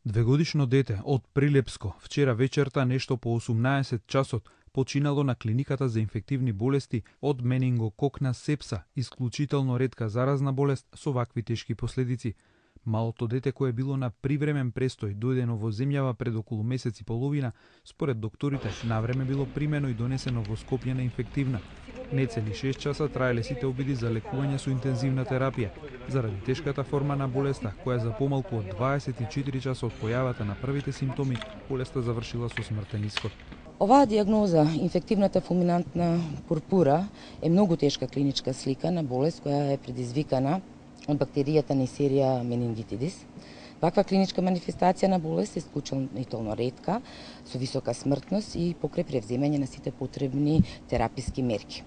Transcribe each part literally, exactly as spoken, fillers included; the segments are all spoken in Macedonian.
Двегодишно дете од Прилепско вчера вечерта нешто по осумнаесет часот починало на клиниката за инфективни болести од менингококна сепса, исклучително ретка заразна болест со вакви тешки последици. Малото дете кое било на привремен престој дојдено во земјава пред околу месец и половина, според докторите, навреме било примено и донесено во Скопје на инфективна. Нецели шест часа траеле сите обиди за лекување со интензивна терапија, заради тешката форма на болеста, која за помалку од дваесет и четири часа од појавата на првите симптоми, болеста завршила со смртен исход. Оваа диагноза, инфективната фулминантна пурпура, е многу тешка клиничка слика на болест која е предизвикана од бактеријата Neisseria meningitidis. Ваква клиничка манифестација на болест е исклучително ретка, со висока смртност и покрај превземање на сите потребни тераписки мерки.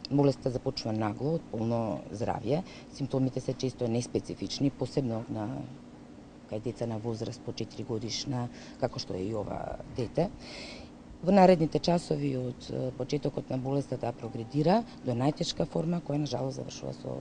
Болеста започува нагло, од полно здравје, симптомите се често неспецифични, посебно на кај деца на возраст по четири годишна, како што е и ова дете. Во наредните часови од почетокот на болеста да прогредира до најтешка форма, која на жалост завршува со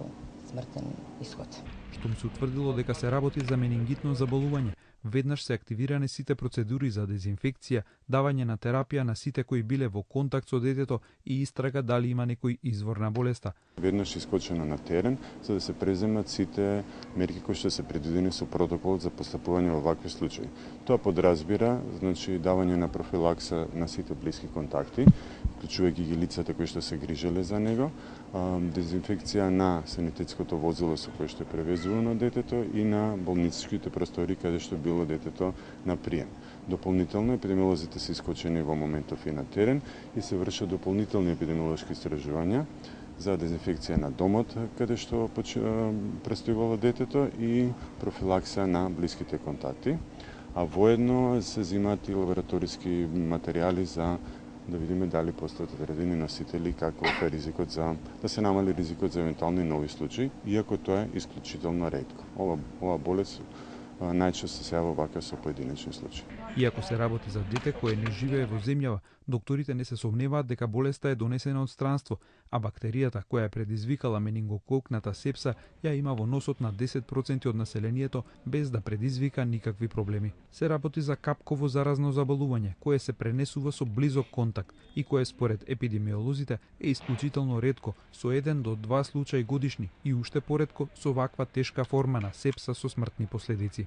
смртен исход. Штом се утврдило дека се работи за менингитно заболување, веднаш се активирани сите процедури за дезинфекција, давање на терапија на сите кои биле во контакт со детето и истрага дали има некој извор на болеста. Веднаш искочено на терен за да се преземат сите мерки кои што се предвидени со протоколот за постапување во вакви случаи. Тоа подразбира, значи, давање на профилакса на сите блиски контакти, вклучувајќи ги лицата кои што се грижеле за него, дезинфекција на санитетското возило со кое што е превезувано детето и на болничките простори каде што било детето на прием. Дополнително епидемиолозите се искочени во моментов и на терен и се вршат дополнителни епидемиолошки истражувања за дезинфекција на домот каде што престојувало детето и профилакса на блиските контакти, а воедно се земаат и лабораториски материјали за да видиме дали постојат одредени носители, како е ризикот за да се намали ризикот за евентуални нови случаи, иако тоа е исклучително ретко. Ова ова болест најчесто се јавува вака со поединечни случаи. Иако се работи за дете кое не живее во земјава, докторите не се сомневаат дека болеста е донесена од странство, а бактеријата која е предизвикала менингококната сепса ја има во носот на десет проценти од населението без да предизвика никакви проблеми. Се работи за капково заразно заболување кое се пренесува со близок контакт и кое според епидемиолозите е исклучително ретко, со еден до два случаи годишни и уште поретко со ваква тешка форма на сепса со смртни последици.